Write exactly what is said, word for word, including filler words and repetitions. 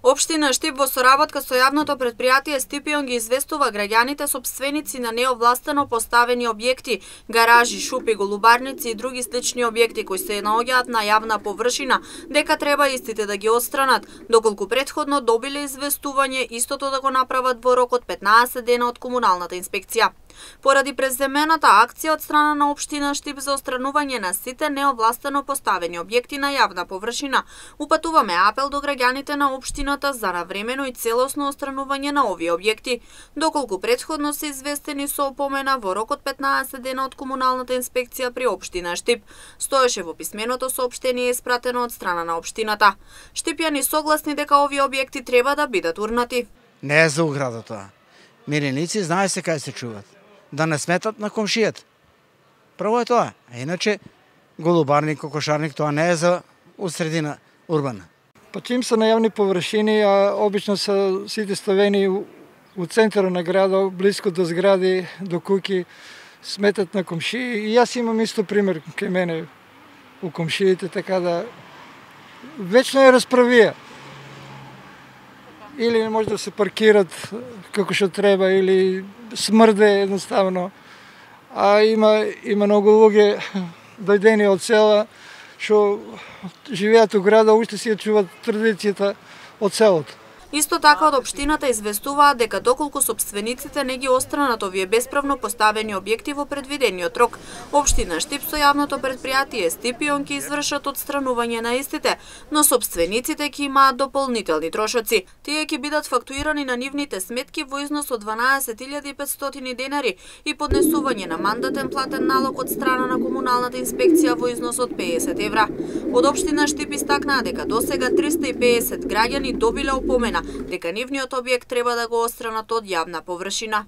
Општина Штип во соработка со јавното претпријатие Стипион ги известува граѓаните сопственици на неовластено поставени објекти, гаражи, шупи, голубарници и други слични објекти кои се наоѓаат на јавна површина, дека треба истите да ги отстранат, доколку претходно добиле известување истото да го направат во рок од петнаесет дена од комуналната инспекција. Поради преземената акција од страна на општина Штип за отстранување на сите неовластено поставени објекти на јавна површина, упатуваме апел до граѓаните на општината за навремено и целосно отстранување на овие објекти, доколку претходно се известени со опомена во рок од петнаесет дена од комуналната инспекција при општина Штип, стоеше во писменото соопштение испратено од страна на општината. Штипјани согласни дека овие објекти треба да бидат урнати. Не е за ограда тоа. Миреници знае се кај се чуват. Да не сметат на комшијата. Прво е тоа. А иначе голубарник, кокошарник, тоа не е за усредина урбана. Па чим се на јавни површини, а обично се сите ставени у, у центарот на градот, близко до згради, до куќи, сметат на комшии. И јас имам исто пример кај мене у комшиите, така да вечно е расправија. Или не може да се паркират како што треба, или смрде едноставно. А има има многу луѓе дојдени од села што живеат у града, уште си ја чуваат традицијата од селото. Исто така од општината известуваат дека доколку сопствениците не ги отстранат овие бесправно поставени објекти во предвидениот рок, општина Штип со јавното претпријатие Стипион ќе извршат отстранување на истите, но сопствениците ќе имаат дополнителни трошоци. Тие ќе бидат фактуирани на нивните сметки во износ од дванаесет илјади и петстотини денари и поднесување на мандатен платен налог од страна на комуналната инспекција во износ од педесет евра. Од општина Штип истакнаа дека досега триста и педесет граѓани добиле опомена дека нивниот објект треба да го отстранат од јавна површина.